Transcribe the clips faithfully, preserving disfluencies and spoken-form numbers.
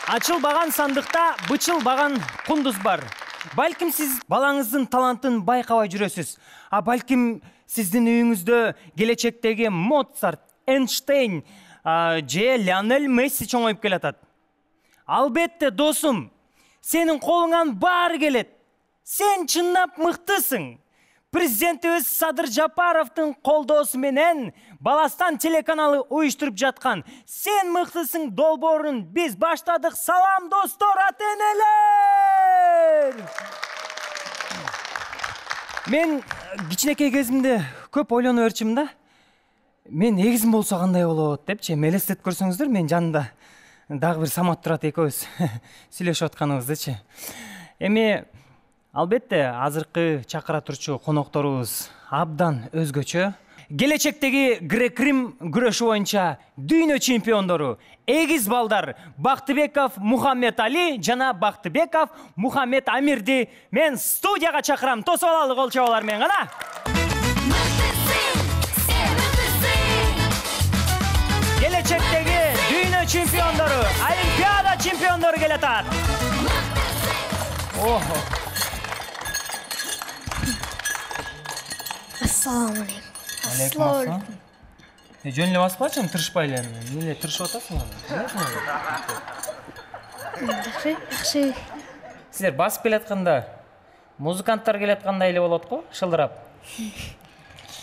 Ачылбаган сандыкта бычылбаган кундуз бар. Балким сиз балаңыздын талантын байкабай жүрөсүз. А балким сиздин үйүңүздө келечектеги Моцарт, Эйнштейн же Лионель Месси чоңоюп келатат. Албетте, досум, сенин колуңан баары келет. Сен чынлап мыктысың. Президентибиз Садыр Жапаровдун колдоосу менен Баластан телеканалы уюштуруп жаткан "Сен мыктысың" долбоорун биз баштадык. Салам, достор, ата-энелер! Мен кичинекей кезимде көп ойлонуп өрчүм да. Мен эгизим болсо кандай болот депчи, элестетип көрсөңүздөр, мен жанымда дагы бир Самат турат, экөөбүз сүйлөшүп атканыбыздычы. Эми албетте, азыркы чакыра турчу конокторубуз абдан өзгөчө. Келечектеги грек-рим күрөшү боюнча дүйнө чемпиондору эгиз балдар Бактыбеков Мухаммед Али жана Бактыбеков Мухаммед Амирди мен студияга чакырам. Тосуп алалы кол чабуулар менен гана. Келечектеги дүйнө чемпиондору, Олимпиада чемпиондору келатат. Охо. Ассаламу алейкум. Алейкум ассалам. Э, жөн эле баспачы, тырышпай эле. Эмне тырышып атасыңар? Жакшы, жакшы. Силер басып келатканда, музыканттар келаткандай эле болот го, шылдырап.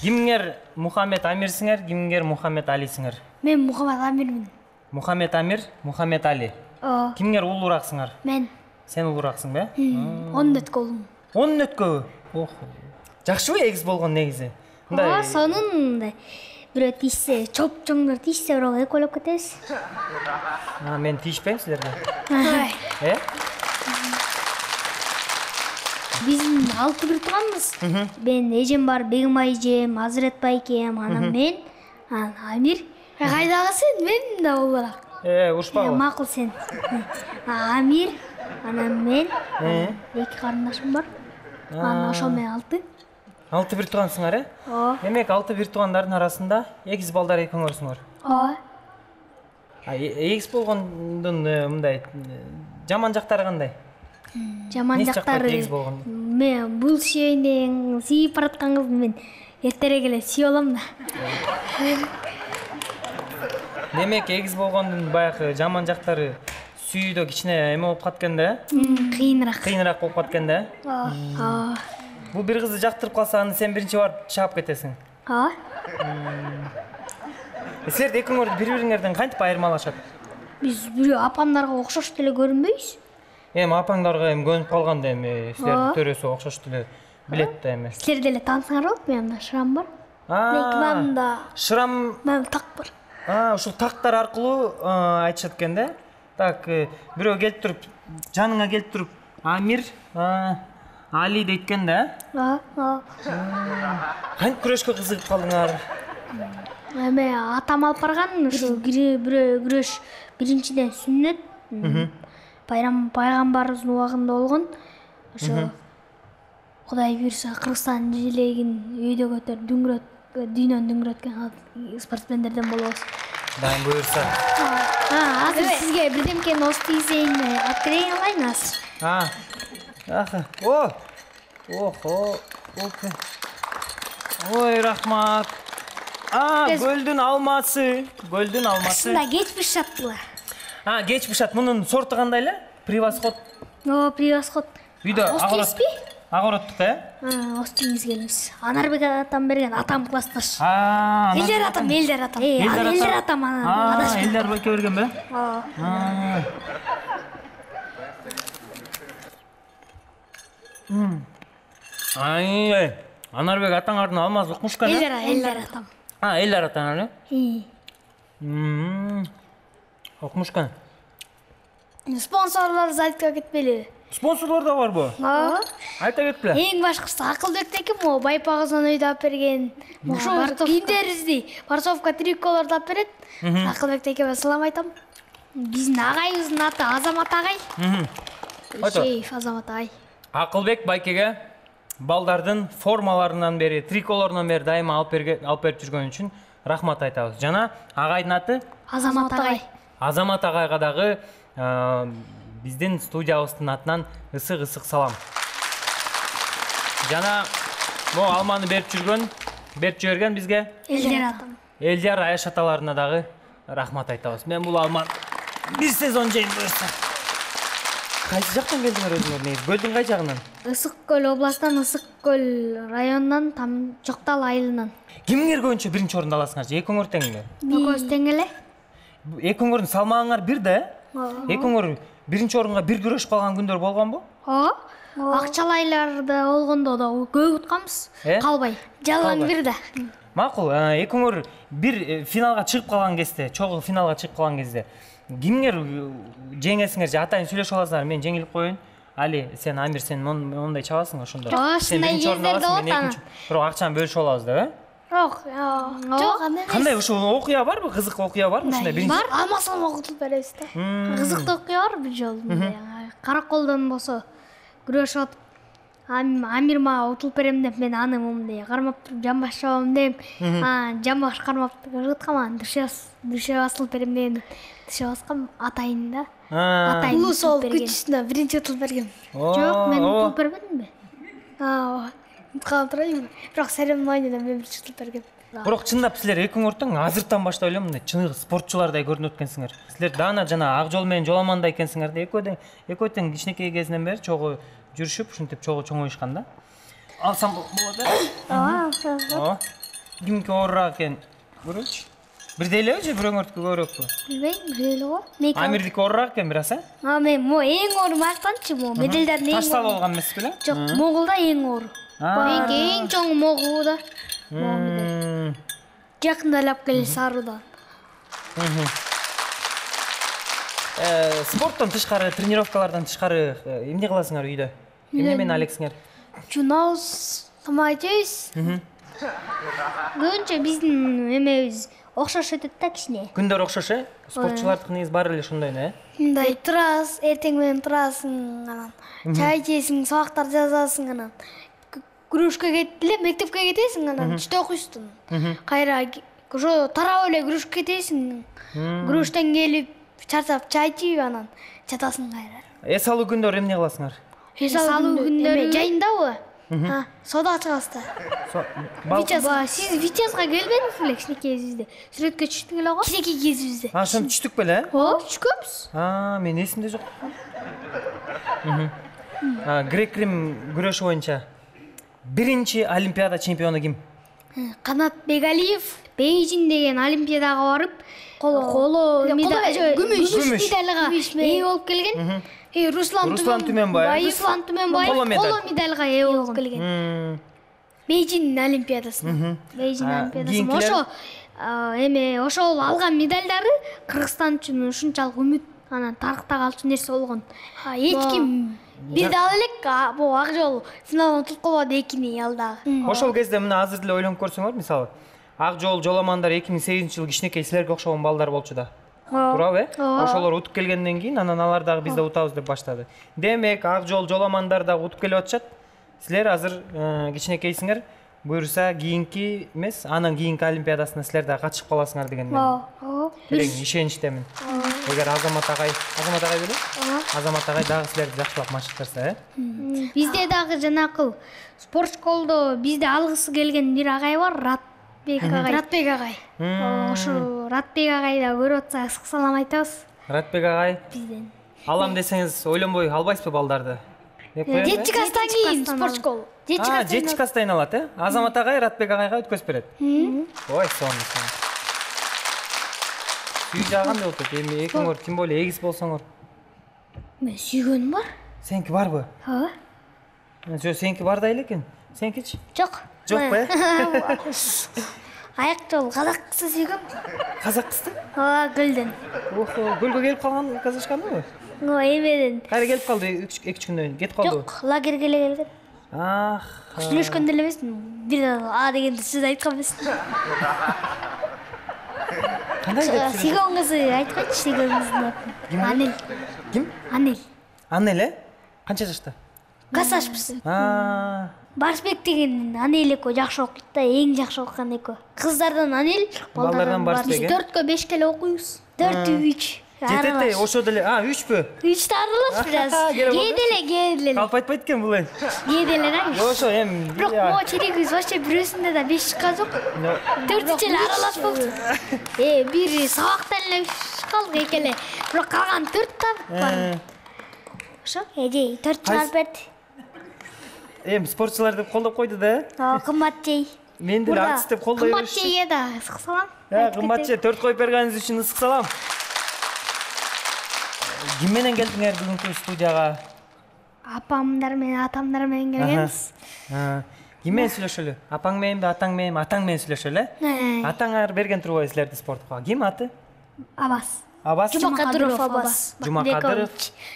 Кимиңер Мухаммед Амирсиңер, кимиңер Мухаммед Алисиңер? Мен Мухаммед Амирмин. Мухаммед Амир, Мухаммед Али. Оо. Кимиңер улуураксыңар? Мен. Сен улуураксың бе? он өткөлүм. он өткөбү? Охо. Жакшыбы эгиз болгон негизи? Ооба, сонун бирөө тийсе, чоп-чоңдор тийсе, бирок экөөлөп кетебиз. А, мен тийишпейм силерге. Э? Биздин алты бир тууганбыз. Мен эжем бар, Бегим эжем, Азырет байкем, анан мен, анан Амир. Кайдагы сен? Мен да улуураак. Э, урушпагыла. Макул сен. Амир, анан мен, эки карындашым бар. Анан ошо менен алты. Алты бир туугансыңар, э? Ооба. Демек, алты бир туугандардын арасында эгиз балдар экөөңөрсүңөр. Ооба. А эгиз болгондун мындай жаман жактары кандай? Жаман жактары эгиз болгон? Мен бул шейинен сүйүп бараткан кызды мен эртерээк эле сүйүп алам да. Демек, эгиз болгондун баягы жаман жактары сүйүүдө кичине эме болуп каткан да, э? Кыйыныраак. Кыйыныраак болуп каткан да, э? Ооба. Бул бир кызды жактырып калса, аны сен биринчи барып чаап кетесиң. Ооба. Силер экөөңөр бири-бириңерден кантип айырмалашат? Биз бирөө апамдарга окшош деле көрүнбөйбүз. Эми апаңдарга эми көнүп калганда эми силердин төрөсү окшош деле билет да эми. Силер деле таанысаңар болот, менде шрам бар. Мында Шрам, мен так бар. А, ушул тактар аркылуу айтышат экен да. Так, бирөө келип туруп, жаныңа келип туруп, Амир, Али дейт экен да. Ооба. Кантип күрөшкө кызыгып калдыңар? Эми атам алып барган, ушу бирөө күрөш биринчиден сүннөт. Байрам пайгамбарыбыздын убагында болгон. Ошо Кудай буйруса Кыргызстан желегин өйдө көтөр, дүңгүрөт, дүйнөнү дүңгүрөткөн спортсмендерден болобуз. Дай буйруса. А, азыр сизге бирдемкени ост тийсейин алып берейин алайын азыр. А. Аха. О. Охо. Опе. Ой, рахмат. А, гөлдүн алмасы. Гөлдүн алмасы. Ушунда кеч бышат булар. А, кеч бышат. Мунун сорту кандай эле? Превосход. О, превосход. Үйдө агорот. Агороттук, э? А, остиңиз келебиз. Анарбек атам берген, атам классташ. А, Элдер атам, Элдер атам. Элдер атам ана. А, Элдер байке берген бе? Ооба. Ай, Анарбек атаңардын алмаз укмуш экен, э? Элдер, Элдер атам. А, Элдер атаңар, э? Мм. Укмуш экен. Спонсорлорубуз айтып кетпели. Спонсорлор да барбы? Ооба. Айта кетпе. Эң башкысы Акылбектеки могу байпагыздан өйдө алып берген. Ошо кийимдерибизди Барсовка триколорду алып берет. Акылбектеке салам айтам. Биздин агайыбыздын аты Азамат агай. Шейф Азамат агай. Акылбек байкеге балдардын формаларынан бери, триколорунан бери дайыма алып берип жүргөн үчүн рахмат айтабыз. Жана агайдын аты Азамат агай. Азамат агайга дагы биздин студиябыздын атынан ысык-ысык салам. Жана могу алманы берип жүргөн, берип жиберген бизге Элдер атам. Элдер Аяш аталарына дагы рахмат айтабыз. Мен бул алманы бир сезон жейм буюрса. Кайсы жактан келдиңер өзүңөр? Негизи көлдүн кай жагынан? Ысык көл областан, Ысык көл районунан, там Жоктал айылынан. Кимиңер көбүнчө биринчи орунду аласыңар же экөөңөр теңиңер? Экөөбүз тең эле. Экөөңөрдүн салмагыңар бир да, э? Экөөңөр биринчи орунга бир күрөшүп калган күндөр болгонбу? Ооба. Акчалайларда болгондо да көп утканбыз. Калбай. Жалаң бир да. Макул, экөөңөр бир финалга чыгып калган кезде, чогуу финалга чыгып калган кезде кимиңер жеңесиңер же атайын сүйлөшүп аласыңар, мен жеңилип коеюн. Али, сен Амир, сен мондай чабасың ошондо. Сен биринчи орунду аласың, мен экинчи. Бирок акчаны бөлүшүп алабыз деп, э? Жок, жок, андай. Кандай ошо окуя барбы? Кызык окуя барбы ушундай биринчи? Бар, алмасам окутуп беребиз да. Кызыктуу окуя бар бир жолу. Караколдон болсо күрөшүп атып, Амир мага утулуп берем деп, мен аны момундай кармап туруп жамбаш чабам деп, жамбаш кармап кыргыткам, дүшө басылып берем деп, дүшө баскам атайын да. Атайын улуу сол күч үстүнө биринчи утулуп бергем. Жок, мен утулуп бербедимби? Ооба. Уткан турайм. Бирок церемонияда мен биринчи утулуп бергем. Бирок чындап силер экөөңөр тең азыртан баштап эле мындай чыныгы спортчулардай көрүнүп өткөнсүңөр. Силер даана жана ак жол менен жоламандай экенсиңер да. Экөө тең, экөө тең кичинекей кезинен бери чогуу жүрүшүп, ушинтип чогуу чоңоюшкан да. Алсам болот э? Ооба, ооба. Кимки оорураак экен көрөчү. Бирдей элеби же бирөөңөрдүкү көбүрөөкпү? Билбейм, бирдей эле го. Амирдики оорураак экен бираз, э? А, мен мо эң оору мактанчы, мо медалдардын эң. Таштал болгон эмес беле? Жок, Монголда эң оору. Меники эң чоң могу да. Жакында алып келе Саруудан. Спорттон тышкары, тренировкалардан тышкары эмне кыласыңар үйдө? Эмне менен алексиңер? Жунабыз, тамак жейбиз. Көбүнчө биздин эмебиз окшош өтөт да кичине. Күндөр окшош, э? Спортчулардыкы негизи баары эле ошондой, э? Мындай турасыз, эртең менен турасың, анан чай ичесиң, сабактар жазасың, анан күрөшкө кетип эле мектепке кетесиң, анан түштө окуйсуң. Кайра ошо тарап эле күрөшкө кетесиң. Күрөштөн келип, чарчап чай ичип, анан жатасың кайра. Эс алуу күндөр эмне кыласыңар? Эс алуу күндөрү жайындабы? Ha, soda çıkastı. Viteaz, siz Viteaz'a gelmediniz mi? Kişineki gezizde. Sürekli çıktın la o. Kişineki gezizde. Ha, şunu çıktık böyle. O, çıkıyoruz. Ha, men esimde yok. Ha, Grek Rim güreşi boyunca birinci Olimpiada çempionu kim? Kanat Begaliyev Beijing деген Олимпиадаға барып, қолы күмүш медальға ээ болуп келген. Э, Руслан Түменбаев, Руслан Түменбаев коло медальга ээ болуп келген. Бейжиң Олимпиадасына. Бейжиң Олимпиадасына. Ошо эме ошол алган медалдары Кыргызстан үчүн ушунчалык үмүт, анан тарыхта калчу нерсе болгон. Эч ким бир дал элек бул ак жол финалга утуп калбады экини алдагы. Ошол кезде мына азыр деле ойлонуп көрсөңөр, мисалы, ак жол жоламандар эки миң сегизинчи жылы кичинекей силерге окшогон балдар болчу да. Туурабы, э? Ошолор утуп келгенден кийин анан алар дагы бизде утабыз деп баштады. Демек, ак жол жоламандар дагы утуп келип атышат. Силер азыр кичинекейсиңер, буюрса кийинки эмес, анан кийинки Олимпиадасына силер дагы катышып каласыңар деген мен. Ооба. Терең ишеничтемин. Эгер Азамат агай, Азамат агай беле? Азамат агай дагы силерди жакшылап машыктырса, э? Бизде дагы жанакыл спорт школдо бизде алгысы келген бир агай бар, Ратбек агай. Ратбек агай. Ошо Ратбек агайда көрүп атса, ысык салам айтабыз. Ратбек агай. Бизден. Алам десеңиз ойлонбой албайсызбы балдарды? Жети кастан кийин спорт школ. Жети кастан алат, э? Азамат агай Ратбек агайга өткөзүп берет. Ой, сонун. Сүй жагандай болот, эми экөөңөр тим более эгиз болсоңор. Мен сүйгөнүм бар. Сеники барбы? Ооба. Жо, сеники бар да эле экен. Сенкичи? Жок. Жокпу, э? Аяк жол казак кызы сүйгөм. Казак кызды? Ооба, Гүлдөн. Охо, Гүлгө келип калган казачканыбы? О, эмеден. Кайра келип калды эки үч күндөн, кетип калдыбы? Жок, лагерге эле келген. Ах. Сүйлөшкөндө эле эмесмин. Бир а дегенди сөз айткан эмесмин. Кандай деп сүйгөн кызы айтканчы, сүйгөн кыздын атын. Анел. Ким? Анел. Анел, э? Канча жашта? Касашпыз. А. Барсбек деген Анел экөө жакшы окуйт да, эң жакшы окуган экөө. Кыздардан Анел, балдардан Барсбек. Биз төрткө бешке эле окуйбуз. төрт үч. жетет ошо деле. А, үчпү? Үчтө аралаш бир аз. Кээделе, кээделе. Калп айтпайт экен бул эми. Кээделе да. Ошо эми. Бирок могу черегибиз вообще бирөөсүндө да беш чыккан жок. Төртүнчү эле аралаш болду. Э, бир сабактан эле чыккалдык экеле. Бирок калган төрт та бар. Ошо, эже төрт чыгарып берди. Эми спортчулар деп колдоп койду да. О, кымбат жей. Мен деле артист деп колдой беришти. Кымбат жейге да ысык салам. Э, кымбат жей, төрт коюп бергениңиз үчүн ысык салам. Ким менен келдиңер бүгүнкү студияга? Апамдар менен, атамдар менен келгенбиз. Ким менен сүйлөшөлү? Апаң мененби, атаң мененби, атаң менен сүйлөшөлү, э? Атаңар берген турбайбы силерди спортко? Ким аты? Абас. Абас? Жумакадыров Абас. Жумакадыров.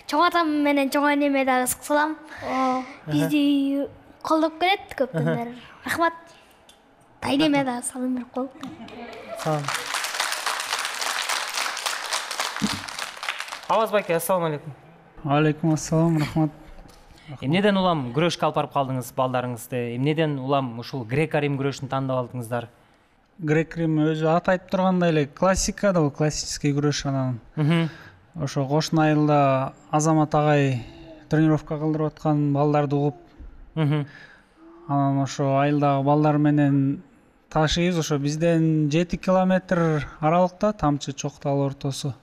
Чоң атам менен чоң энеме дагы ысык салам. Бизди колдоп келет көптөн бери. Рахмат. Тайнеме дагы салым берип коелук. Салам. Абас байке, ассаламу алейкум. Алейкум ассалам, рахмат. Эмнеден улам күрөшкө алып барып калдыңыз балдарыңызды? Эмнеден улам ушул грек-рим күрөшүн тандап алдыңыздар? Грек-рим өзү аты айтып тургандай эле классика да, бул классический күрөш анан. Ошо кошуна айылда Азамат агай тренировка кылдырып аткан балдарды угуп, анан ошо айылдагы балдар менен ташыйбыз. Ошо бизден жети километр аралыкта Тамчы Чоктал ортосу.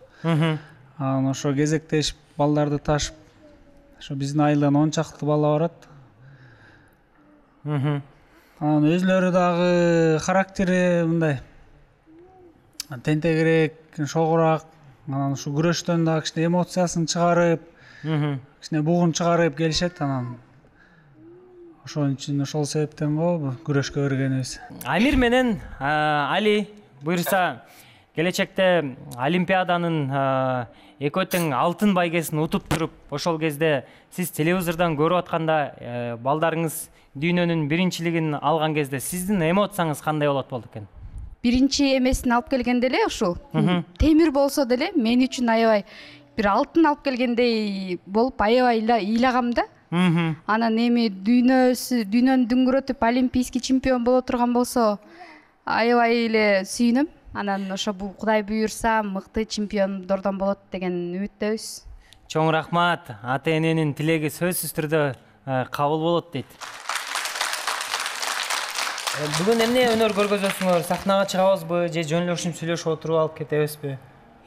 Анан ошо кезектешип балдарды ташып, ошо биздин айылдан он чакты бала барат. Анан өзлөрү дагы характери мындай тентегирээк, шогураак. Анан ушу күрөштөн дагы кичине эмоциясын чыгарып, кичине бугун чыгарып келишет. Анан ошон үчүн ошол себептен го күрөшкө бергенибиз. Амир менен Али буюрса келечекте Олимпиаданын экөө тең алтын байгесин утуп туруп, ошол кезде сиз телевизордон көрүп атканда балдарыңыз дүйнөнүн биринчилигин алган кезде сиздин эмоцияңыз кандай болот болду экен? Биринчи эмесин алып келгенде эле ушул темир болсо деле мен үчүн аябай бир алтын алып келгендей болуп аябай ыйлагам да. Анан эми дүйнөсү дүйнөнү дүңгүрөтүп олимпийский чемпион боло турган болсо аябай эле сүйүнөм. Анан ошо бул Кудай буйурса мыкты чемпиондордон болот деген үмүттөбүз. Чоң рахмат. Ата эненин тилеги сөзсүз түрдө кабыл болот дейт. Бүгүн эмне өнөр көргөзөсүңөр? Сахнага чыгабызбы же жөн-жөнөкөй сүйлөшүп отуруп алып кетебизби?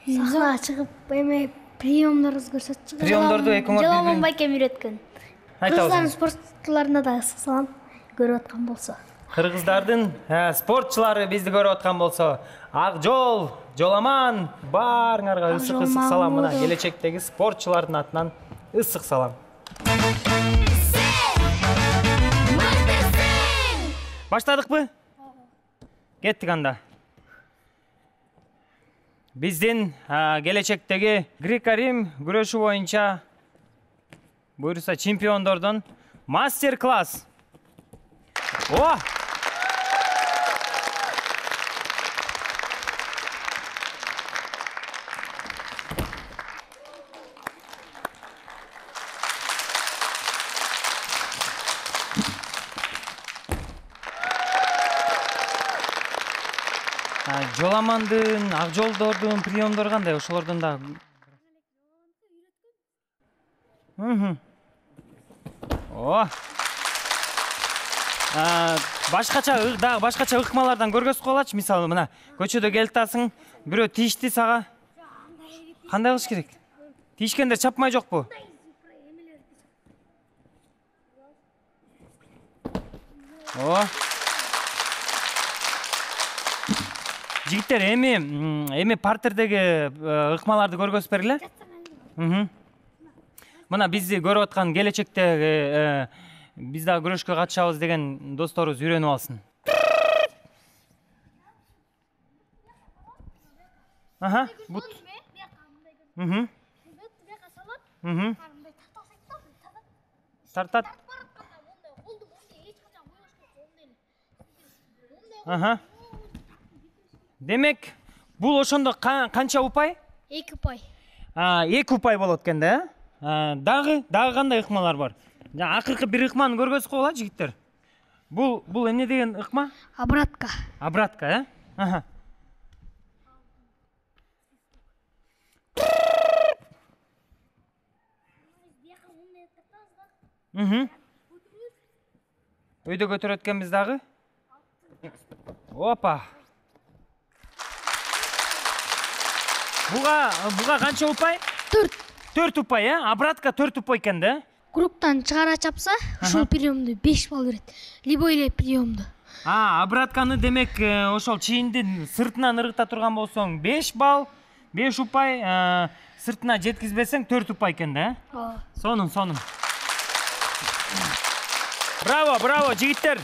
Сахнага чыгып эме приемдорубуз көрсөтчү. Приемдорду экөөңөр Жаламан байкем үйрөткөн. Кыргызстан спортчуларына да салам көрүп аткан болсо. Кыргыздардын спортчулары бизди көрүп аткан болсо, Акжол, Жоламан баарыңарга ысык-ысык салам. Мына келечектеги спортчулардын атынан ысык салам. Баштадыкпы? Кеттик анда. Биздин келечектеги грек-рим күрөшү боюнча буюрса чемпиондордон мастер-класс. О! Жоламандын, Акжолдордун приемдору кандай? Ошолордон да. О! Башкача дагы башкача ыкмалардан көргөзүп коелачы. Мисалы мына көчөдө келип атасың, бирөө тийишти сага. Кандай кылыш керек? Тийишкендер чапмай жокпу? О! Жигиттер, эми эми партердеги ыкмаларды көргөзүп бергиле. Мына бизди көрүп аткан келечектеги биз дагы күрөшкө катышабыз деген досторубуз үйрөнүп алсын. Аха, бут. Мм. Мм. Тартат. Аха. Демек, бул ошондо канча упай? эки упай. А, эки упай болот экен да? Дагы, дагы кандай ыкмалар бар? Акыркы бир ыкманы көргөзүп коелачы жигиттер. Бул бул эмне деген ыкма? Обратка. Обратка, э? Аха. Өйдө көтөрөт экенбиз дагы. Опа. Буга буга канча упай? төрт. төрт упай, э? Обратка төрт упай экен да? Кругтан чыгара чапса, ушул приемду беш балл берет. Либо эле приемду. А, обратканы демек ошол чийиндин сыртынан ыргыта турган болсоң беш балл, беш упай, сыртына жеткизбесең төрт упай экен да? Ооба. Сонун, сонун. Браво, браво, жигиттер.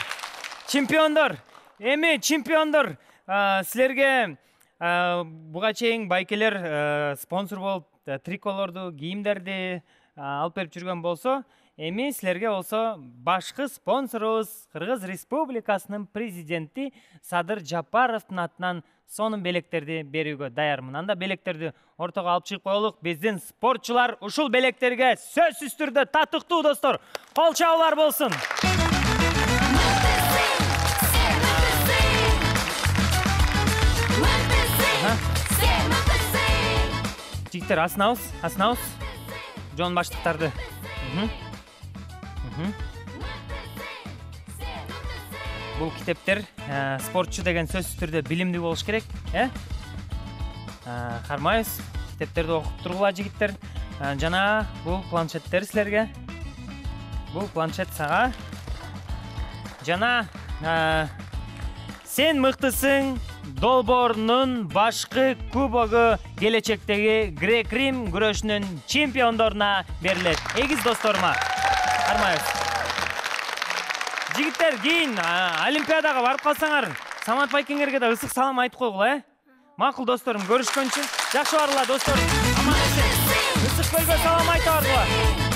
Чемпиондор. Эми чемпиондор, силерге буга чейин байкелер спонсор болуп триколорду, кийимдерди алып берип жүргөн болсо, эми силерге болсо башкы спонсорубуз Кыргыз Республикасынын президенти Садыр Жапаровдун атынан сонун белектерди берүүгө даярмын. Анда белектерди ортого алып чыгып коелук. Биздин спортчулар ушул белектерге сөзсүз түрдө татыктуу достор. Кол чабуулар болсун. Жигиттер, асынабыз, асынабыз. Жон баштыктарды. Бул китептер спортчу деген сөзсүз түрдө билимдүү болуш керек, э? Кармайбыз. Китептерди окуп тургула жигиттер. Жана бул планшеттер силерге. Бул планшет сага. Жана сен мыктысың долбоорунун башкы кубогу келечектеги грек-рим күрөшүнүн чемпиондоруна берилет. Эгиз досторума. Кармайбыз. Жигиттер, кийин Олимпиадага барып калсаңар, Самат Байкеңерге да ысык салам айтып койгула, э? Макул досторум, көрүшкөнчү. Жакшы баргыла досторум. Аман эсен. Ысык көлгө салам айта баргыла.